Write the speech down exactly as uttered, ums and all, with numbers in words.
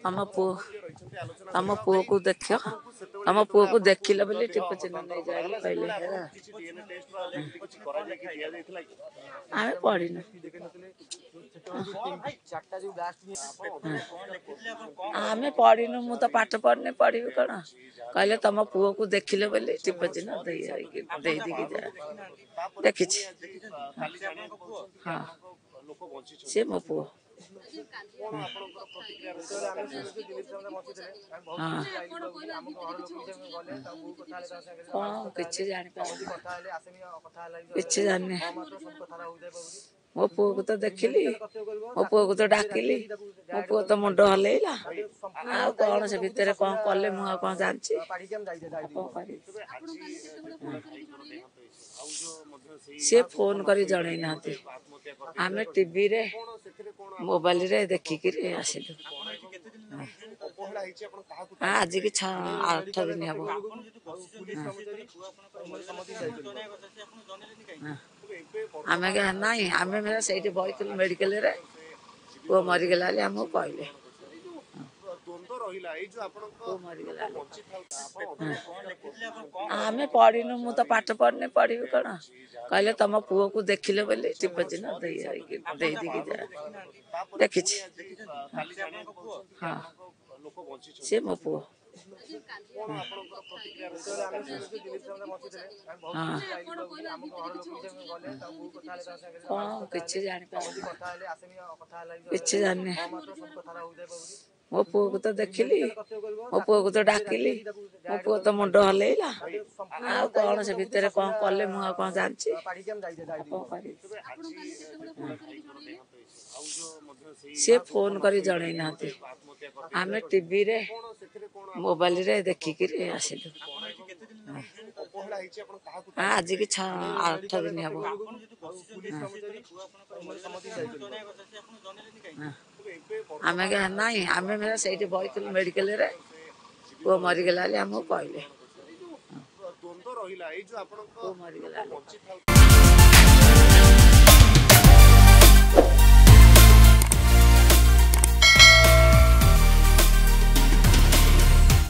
ଆମ ପୁଅ, ଆମ ପୁଅକୁ ଦେଖ, ଆମ ପୁଅକୁ ଦେଖିଲ ବୋଲି ଟିପ ଚିହ୍ନ ନେଇଯାଏ କହିଲେ। ଆମେ ପଢିନୁ, ଆମେ ପଢିନୁ। ମୁଁ ତ ପାଠ ପଢିନି, ପଢିବି କଣ? କହିଲେ ତମ ପୁଅକୁ ଦେଖିଲେ ବୋଲି ଟିପ ଚିହ୍ନ ଦେଇ ଦେଇ ଦେଇକି ଯା। ଦେଖିଛି, ହଁ, ସିଏ ମୋ ପୁଅ। ହଁ, କଣ କିଛି ଜାଣିପାରୁନି, କିଛି ଜାଣିନି। ମୋ ପୁଅକୁ ତ ଦେଖିଲି, ମୋ ପୁଅକୁ ତ ଡାକିଲି, ମୋ ପୁଅ ତ ମୁଣ୍ଡ ହଲେଇଲା। ଆଉ କଣ ସେ ଭିତରେ କଣ କଲେ ମୁଁ ଆଉ କଣ ଜାଣିଛି? ଆଉ କଣ କରିବି? ସିଏ ଫୋନ କରି ଜଣେଇ ନାହାନ୍ତି, ଆମେ ଟିଭିରେ ମୋବାଇଲରେ ଦେଖିକିରି ଆସିଲୁ। ଆଜିକି ଛଅ ଆଠ ଦିନ ହବ। ଆମେ ନାଇଁ, ଆମେ ସେଇଠି ବଇଥିଲୁ ମେଡିକାଲରେ। ପୁଅ ମରିଗଲା ବୋଲି ଆମକୁ କହିଲେ। ପୁଅ ମରିଗଲା। ଆମେ ପଢିନୁ, ମୁଁ ତ ପାଠ ପଢିନି, ପଢିବି କଣ? କହିଲେ ତମ ପୁଅକୁ ଦେଖିଲେ ବୋଲି ଟିପ ଚିହ୍ନ ଦେଇ ଦେଇ ଦେଇକି ଯା। ଦେଖିଛି, ହଁ, ସିଏ ମୋ ପୁଅ। ହଁ, କଣ କିଛି ଜାଣିପାରୁନି, କିଛି ଜାଣିନି। ମୋ ପୁଅକୁ ତ ଦେଖିଲି, ମୋ ପୁଅକୁ ତ ଡାକିଲି, ମୋ ପୁଅ ତ ମୁଣ୍ଡ ହଲେଇଲା। ଆଉ କଣ ସେ ଭିତରେ କଣ କଲେ ମୁଁ ଆଉ କଣ ଜାଣିଛି? ଆଉ କଣ କରିବି? ସିଏ ଫୋନ କରି ଜଣେଇ ନାହାନ୍ତି, ଆମେ ଟିଭିରେ ମୋବାଇଲରେ ଦେଖିକିରି ଆସିଲୁ। ଆଜିକି ଛଅ ଆଠ ଦିନ ହବ। ଆମେ ନାଇଁ, ଆମେ ସେଇଠି ବଇଥିଲୁ ମେଡିକାଲରେ। ପୁଅ ମରିଗଲା ବୋଲି ଆମକୁ କହିଲେ। ପୁଅ ମରିଗଲା।